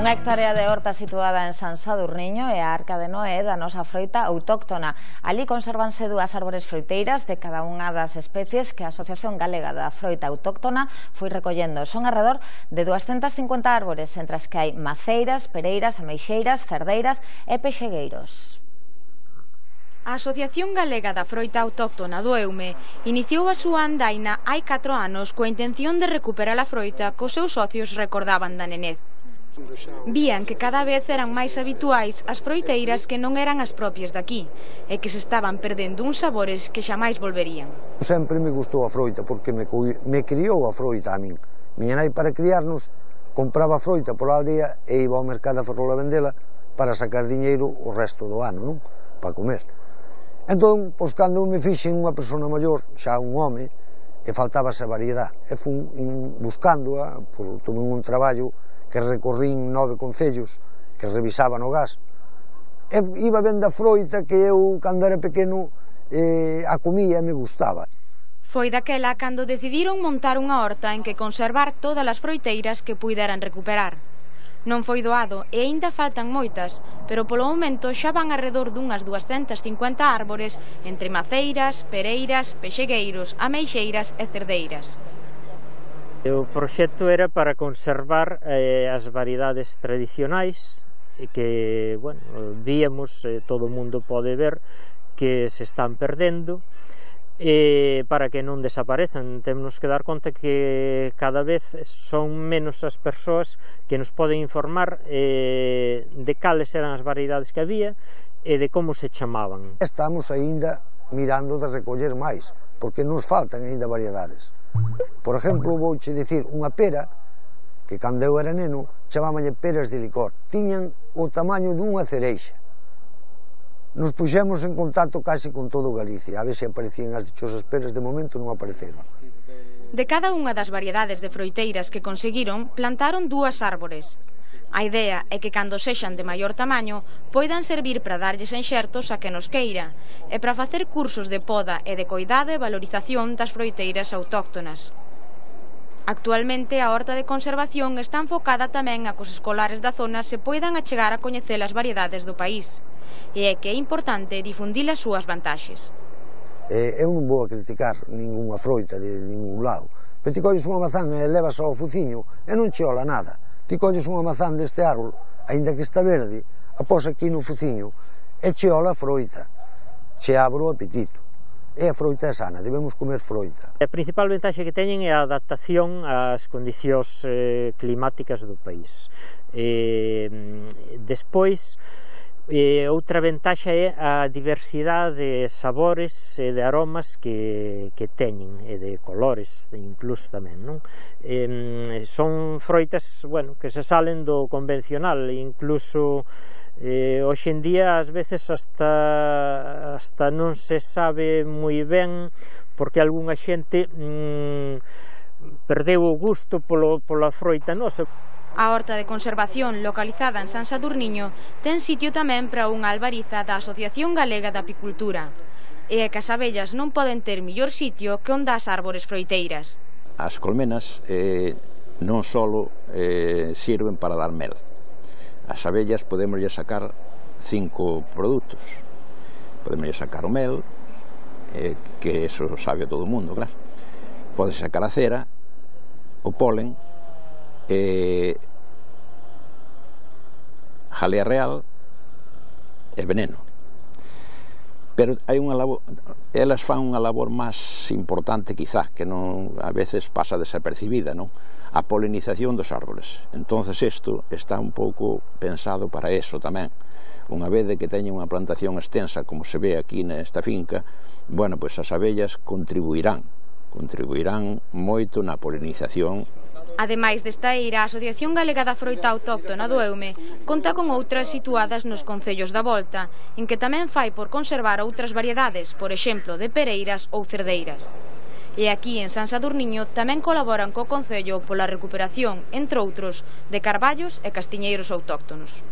Unha hectárea de horta situada en San Sadurniño é a Arca de Noé da nosa froita autóctona. Ali consérvanse dúas árbores froiteiras de cada unha das especies que a Asociación Galega da Froita Autóctona foi recollendo. Son alrededor de 250 árbores, entre as que hai maceiras, pereiras, ameixeiras, cerdeiras e pexegueiros. A Asociación Galega da Froita Autóctona do Eume iniciou a súa andaina hai 4 anos coa intención de recuperar a froita que os seus socios recordaban da nenez. Vían que cada vez eran máis habituais as froiteiras que non eran as propias daqui e que se estaban perdendo uns sabores que xamais volverían. Sempre me gustou a froita porque me criou a froita a min. Miña nai, para criarnos, compraba froita pola aldea e iba ao mercado a Ferrol a vendela para sacar diñeiro o resto do ano, non? Para comer. Entón, pois, cando me fixen unha persona maior, xa un home, e faltaba esa variedade, e fun buscándoa, tomei un traballo que recorrín 9 concellos, que revisaba no gas, e iba vendo a froita que eu, cando era pequeno, a comía e me gustaba. Foi daquela cando decidiron montar unha horta en que conservar todas as froiteiras que puideran recuperar. Non foi doado e aínda faltan moitas, pero polo momento xa van alrededor dunhas 250 árbores entre maceiras, pereiras, pexegueiros, ameixeiras e cerdeiras. O proxecto era para conservar as variedades tradicionais que, bueno, víamos, todo o mundo pode ver que se están perdendo, para que non desaparezan. Temos que dar conta que cada vez son menos as persoas que nos poden informar de cales eran as variedades que había e de como se chamaban. Estamos aínda mirando de recoller máis, porque nos faltan aínda variedades. Por exemplo, vouche dicir, unha pera, que cando eu era neno, chamábanlle peras de licor, tiñan o tamaño dunha cereixa. Nos puxemos en contacto case con todo Galicia, a ver se aparecían as dichosas peras, de momento non apareceron. De cada unha das variedades de froiteiras que conseguiron, plantaron 2 árbores. A idea é que cando sexan de maior tamaño poidan servir para darlles enxertos a que nos queira e para facer cursos de poda e de coidado e valorización das froiteiras autóctonas. Actualmente a horta de conservación está enfocada tamén a que os escolares da zona se poidan achegar a coñecer as variedades do país e é que é importante difundir as súas vantaxes. Eu non vou a criticar ninguna froita de ningún lado, pero ti colles unha mazán e levas ao fuciño e non che ola nada. Ti colles unha mazán deste árbol, aínda que está verde, a pos aquí no fuciño e che ola a froita, che abre o apetito. E a froita é sana, debemos comer froita. A principal vantaxe que teñen é a adaptación ás condicións climáticas do país. Despois, outra vantaxe é a diversidade de sabores e de aromas que teñen, e de colores incluso tamén, non? Son froitas, bueno, que se salen do convencional, incluso hoxe en día ás veces hasta non se sabe moi ben porque algunha xente perdeu o gusto pola froita nosa. A horta de conservación localizada en San Sadurniño ten sitio tamén para unha albariza da Asociación Galega da Apicultura. E é que as abellas non poden ter mellor sitio que onde as árbores froiteiras. As colmenas non só sirven para dar mel. As abellas podemoslle sacar 5 produtos. Podemoslle sacar o mel, que eso sabe a todo o mundo, claro. Pode sacar a cera, o polen, jalea real e veneno. Pero hai unha labor, elas fan unha labor máis importante quizás, que non a veces pasa desapercibida, non? A polinización dos árboles. Entonces isto está un pouco pensado para eso tamén. Unha vez de que teñen unha plantación extensa, como se ve aquí nesta finca, bueno, pois as abellas contribuirán moito na polinización. Ademais desta eira, a Asociación Galega da Froita Autóctona do Eume conta con outras situadas nos concellos da volta, en que tamén fai por conservar outras variedades, por exemplo, de pereiras ou cerdeiras. E aquí en San Sadurniño tamén colaboran co concello pola recuperación, entre outros, de carballos e castiñeiros autóctonos.